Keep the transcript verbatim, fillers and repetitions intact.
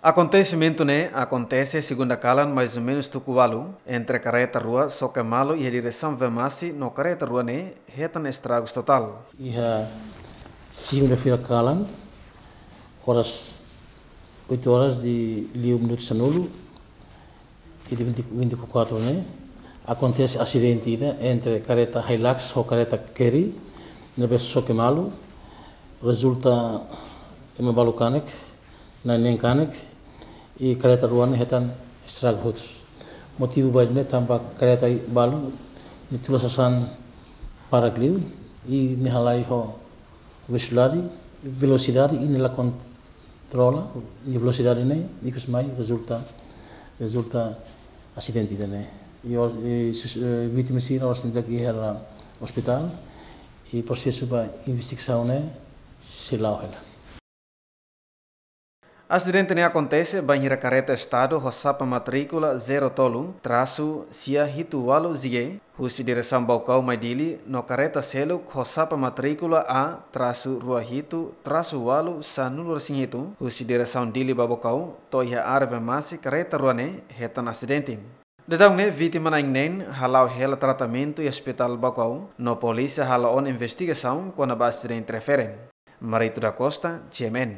Akontesimentu ne'e akontese segunda kalan mais ou menus tuku ualu, entre kareta rua xoke malu iha diresaun Vemasi no kareta rua ne'e hetan estragus totál. Iha segunda-feira kalan, oras oito horas de liu minutu sanulu, e de vinte, vinte e quatro ne'e, akontese asidente ida entre kareta Hilux ho kareta Carry, ne'ebé xoke malu, rezulta ema balu kanek, na'in neen kanek, i kareta rua ne'e hetan estragu hotu. Motivu ba ida-ne'e tanba kareta balu ne'e tula sasán barak liu, i nia halai ho velosidade, velosidade i nia la kontrola nia velosidade ne'e, ikus mai rezulta, rezulta asidente ida-ne'e. I or-, i sus-, eh, vítima sira oras ne'e daudaun iha ospitál, i prosesu ba investigasaun ne'e sei la'o hela. Asidente ne'e akontese bainhira kareta estadu ho xapa matríkula zero tolu trasu sia hitu ualu Z G husi diresaun Baucau mai Dili no kareta seluk ho xapa matríkula A trasu rua hitu trasu ualu sanulu resin hitu husi diresaun Dili ba Baucau to'o iha área Vemasi kareta rua ne'e hetan asidente. Daudaun ne'e vítima na'in neen hala'o hela tratamentu iha Ospitál Baucau no polísia hala'o ona investigasaun kona-ba asidente refere. Marito da Costa, G M N.